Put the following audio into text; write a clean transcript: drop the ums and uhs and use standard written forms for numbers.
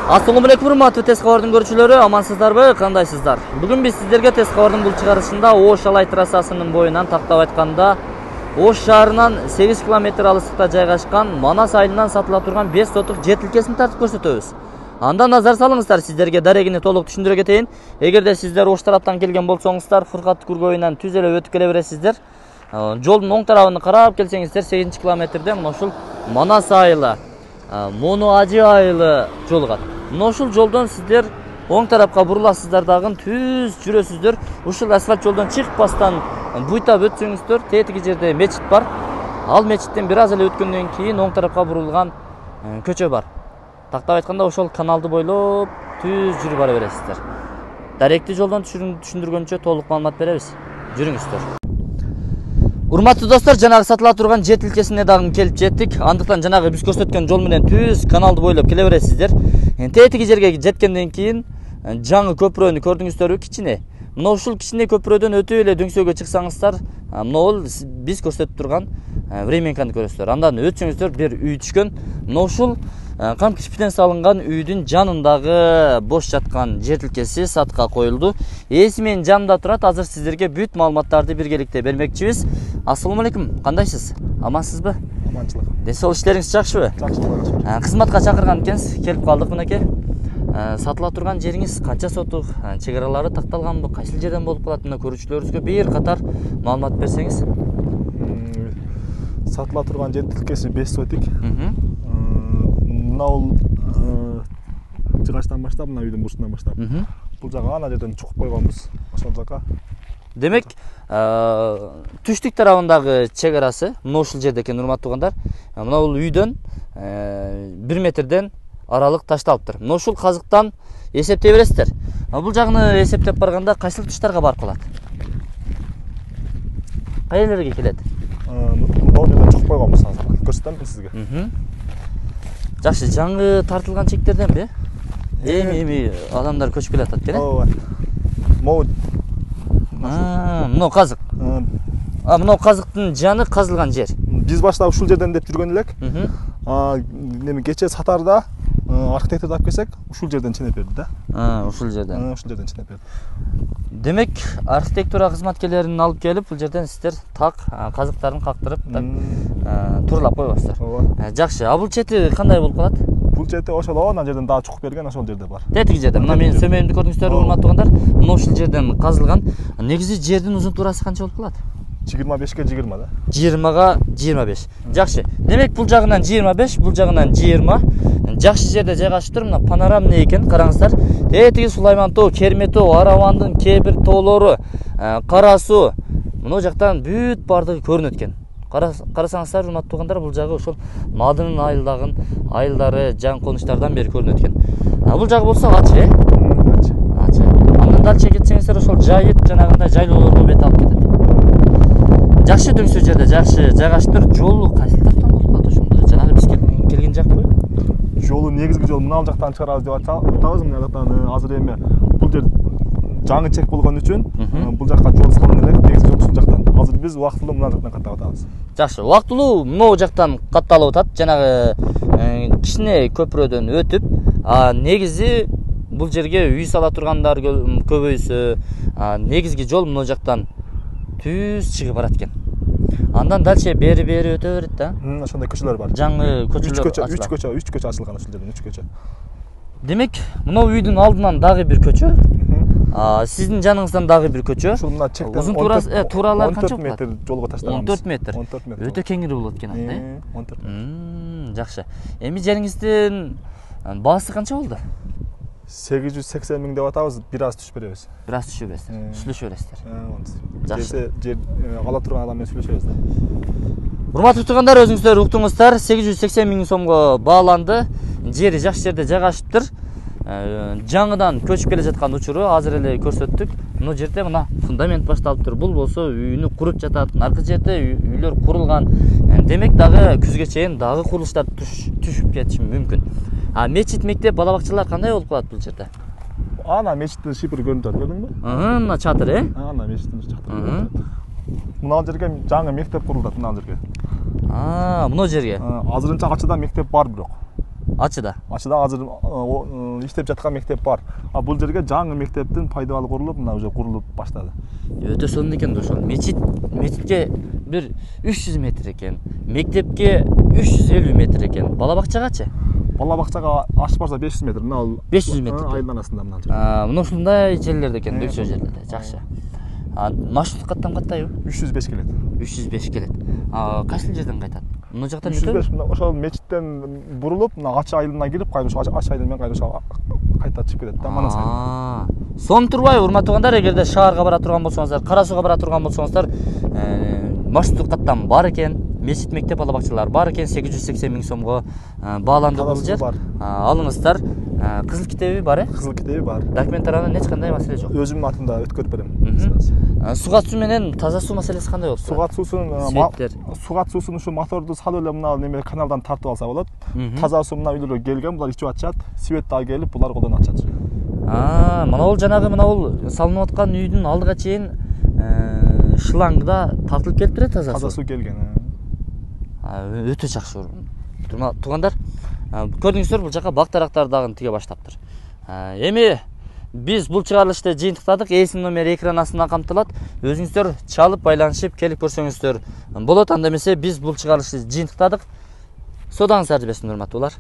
Assalamu alaykum урматтуу тез кабардын көрүүчүлөрү, амансыздарбы, кандайсыздар? Бүгүн биз сиздерге тез кабардын бул чыгарышында Ош Алай трассасынын боюнан тактап айтканда Ош шаарынан 8 км алыстыкта жайгашкан Манас айылынан сатыла турган 5 сотук жер тилкесин тартып көрсөтөбүз. Андан назар салыңыздар, сиздерге дарегини толук түшүндүрө кетейин. Эгерде сиздер Ош тараптан келген болсоңуздар, Фыркат көргөйүнөн түз эле өтүп келе бересиздер. Жолдун оң тарабын карап келсеңиздер, 8 километрде мына ушул Манас айылы, Мону Ажы айылы жолугат. Мына ушул жолдон сиздер оң тарапка буруласыздар дагы түз жүрөсүздөр. Ушул асфальт жолдон чыкпастан буйтап өтсөңүздөр, тетиги жерде мечит бар. Ал мечиттен бир аз эле өткөндөн кийин оң тарапка бурулган көчө бар. Тактап айтканда ошол каналды бойлоп түз жүрүп бара бересиздер. Даректи жолдон түшүндүргөнчө толук маалымат беребиз. Жүрүңүздөр. Урматтуу достор, жанагы сатыла турган жер тилкесине дагы келип жеттик. Андыктан жанагы биз көрсөткөн жол менен түз каналды бойлоп келе бересиздер. Тетиги жерге жеткенден кийин жаңы көпүрөнү көрдүңүздөрбү, кичине. Мына ушул кичине көпүрөдөн өтүп эле дөңсөөгө чыксаңыздар, мына бул биз көрсөтүп турган временканы көрөсүздөр. Андан өтсөңүздөр бир үй түшкөн. Мына ушул кам кирпичтен салынган үйдүн жанындагы бош жаткан жер тилкеси сатка коюлду. Ээси менин жанымда турат. Азыр сиздерге бүт маалыматтарды биргеликте бермекчибиз. Ассаламу алейкум, кандайсыз? Амансызбы? Аманчылык. Ден соолук иштериңиз жакшыбы? Жакшы. Кызматка чакырган экенсиз, келип калдык мынакей. Сатыла турган жериңиз канча сотук, чегаралары такталганбы, кайсыл жерден болуп калат? Мына көрүүчүлөрүбүзгө бир катар маалымат берсеңиз. Сатыла турган жер тилкеси 5 сотик. Мына бул жыгачтан баштап, мына үйдүн бурчунан баштап. Бул жага ана жерден чукуп койгонбуз. Ошол жака. Демек, түштүк тарабындагы чегарасы мына ушул жерде экен, урматтуу угандар. Мына бул үйдөн 1 метрден аралык ташталыптыр. Мына ушул казыктан эсептей бересиздер. Бул жагыны эсептеп барганда кайсыл туштарга барып калат? Кай жерлерге келет? Бул жерден чукуп койгонбуз азыр. Көрсөтөм сизге. Жакшы, жаңы тартылган чектерденби? Эми адамдар көчүп келатат экен. Ооба. Могу. Мына казык. Мына казыктын жаны казылган жер. Биз башта ушул жерден деп жүргөн элек. Неме кече сатарда архитектор тап келсек, ушул жерден ченеп берди да. Ушул жерден. Ушул жерден ченеп берди. Демек, архитектура кызматкерлерин алып келип, бул жерден сиздер так казыктарын кактырып, так турлап койбосуздар. Ооба. Жакшы, а бул чети кандай болуп калат? Бул чети ошол ана жерден дагы чукуп берген, ошол жерде бар. Тетиги жерде. Мына менин сөмөйүмдү көрдүңүздөрбү, урматтуу угандар? Мына ушул жерден казылган. Негизи жердин узун туурасы канча болуп калат? 25ке 20 да. 20га 25. Жакшы. Демек, бул жагынан 25, бул жагынан 20. Жакшы жерде жайгашып тур. Мына панорамный экен, караңыздар. Тетиги Сулайман тоо, Керме тоо, Аравандын кээ бир тоолору, Кара суу. Мына жактан бүт бардыгы көрүнөт экен. Карасаңыздар, урматтуу угандар, бул жагы ошол Мадынын айылдары, жан конуштардан бери көрүнөт экен. Бул жагы болсо ачы, ачы. Андан дальше кетсеңиздер, ошол жайыт жанагындай жайлоолорго бет алып кетет. Жакшы дөңсөө жерде, жакшы жайгашыптыр. Жолу кайсыл жактан болуп калат ошондо? Жанагы биз келген жакпы? Жолу негизги жол мына жактан чыгарабыз деп атабыз. Мына жактан азыр эми бул жер жаңы чек болгон үчүн бул жакка жол салынган элек. Негизги жол ушул жактан. Азыр биз убактылуу мына жактан каттап атабыз. Жакшы, убактылуу могу жактан катталып атат. Жанагы кичине көпүрөдөн өтүп, негизи бул жерге үй сала тургандар көбөйсө, негизги жол мына жактан түз чыгып барат экен. Андан дальше бери өтө берет да. Ошондой көчөлөр бар. Жаңы көчөлөр. 3 көчө ачылган ушул жерден, 3 көчө. Демек, мына үйдүн алдынан дагы бир көчө. Сиздин жаныңыздан дагы бир көчө. Ушул мына чектен узун тууралар канча 14 метр жолго таштаганбыз. 14 метр. Өтө кеңири болот экен анда, 14 метр. Жакшы. Эми жериңиздин баасы канча болду? 880 миң деп атабыз, бир аз түшүп беребиз. Бир аз түшүп бересиздер. Сүйлөшүп бересиздер. Жакшы. Жер ала турган адам менен сүйлөшөбүз да. Урматтуу тугандар, өзүңүздөр уктуңуздар, 880 миң сомго бааланды. Жери жакшы жерде жайгашыптыр. Жаңыдан көчүп келе жаткан учуру азыр эле көрсөттүк. Мына жерде мына фундамент башталыптыр. Бул болсо үйүнү куруп жатат. Наркы жерде үйлөр курулган. Демек дагы күзгө чейин дагы курулуштар түшүп кетиши мүмкүн. Мечит, мектеп, бала бакчалар кандай болуп калат бул жерде? Ана мечиттин шипри көрүнүп жатат, көрдүңбү? Мына чатыр, Ана мечиттин чатыры көрүнүп жатат. Мына жерге жаңы мектеп курулат, мына жерге. Мына жерге. Азырынча качада мектеп бар бирок. Ачыда. Ачыда азыр иштеп жаткан мектеп бар. А бул жерге жаңы мектептин пайдабалы курулуп, мына уже курулуп баштады. Өтө сонун экен да ошол. Мечитке бир 300 метр экен. Мектепке 350 метр экен. Бала бакчагачы? Бала бакчага ашып барса 500 метр. Мына ал 500 метр. Айылдын арасында мына. Мына ушундай жерлерде экен, бөлчө жерлерде. Жакшы. Маршрут каттан каттайбы? 305 келет. 305 келет. Кайсыл жерден кайтат? Мына жактан 305 ошол мечиттен бурулуп, мына Ачы айылына кирип, кайра Ачы айылы менен кайта чыгып кетет да, Манас айылы. Сонун турбайбы, урматтуу угандар, эгерде шаарга бара турган болсоңуздар, Кара Сууга бара турган болсоңуздар, маршруттук каттам бар экен. Мечит, мектеп, бала бакчалар бар экен. 880 миң сомго бааланды бул жер. Алыңыздар. Кызыл китеби бар, Кызыл китеби бар. Документтарынан эч кандай маселе жок. Өзүмдүн атымда өткөрүп берем. Суга суу менен таза суу маселеси кандай болот? Суга суусун ушу моторду салып эле мына неме каналдан тартып алса болот. Таза суу мына үйлөргө келген, булар ичип атышат. Свет дагы келип, булар колдонуп атышат. Мына бул жанагы салынып аткан үйдүн алдыга чейин шлангда тартылып келип турат таза суу. Таза суу келген. Өтө жакшы. Туугандар, көрдүңүздөр, бул жака бак дарактар дагы тиге баштаптыр. Эми биз бул чыгарылышты жыйынтыктадык. Эсин номери экран астынан камтылат. Өзүңүздөр чалып байланышып келип көрсөңүздөр болот. Анда эмесе биз бул чыгарылышты жыйынтыктадык. Содаңыз ар берсин, урматтуулар.